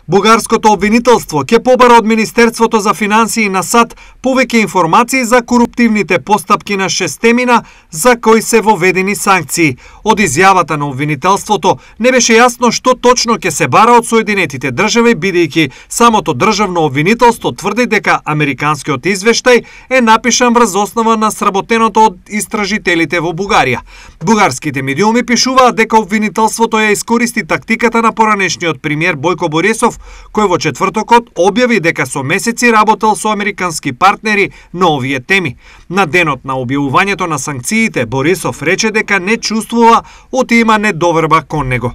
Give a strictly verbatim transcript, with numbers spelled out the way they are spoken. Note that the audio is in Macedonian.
Бугарското обвинителство ќе побара од Министерството за финансии на САД повеќе информации за коруптивните постапки на шестемина за кои се воведени санкции. Од изјавата на обвинителството не беше јасно што точно ќе се бара од Соединетите држави, бидејќи самото државно обвинителство тврди дека американскиот извештај е напишан врз основа на сработеното од истражителите во Бугарија. Бугарските медиуми пишуваат дека обвинителството ја искористи тактиката на поранешниот премиер Бојко Борисов, кој во четвртокот објави дека со месеци работел со американски партнери на овие теми. На денот на објавувањето на санкциите, Борисов рече дека не чувствува оти има недоверба кон него.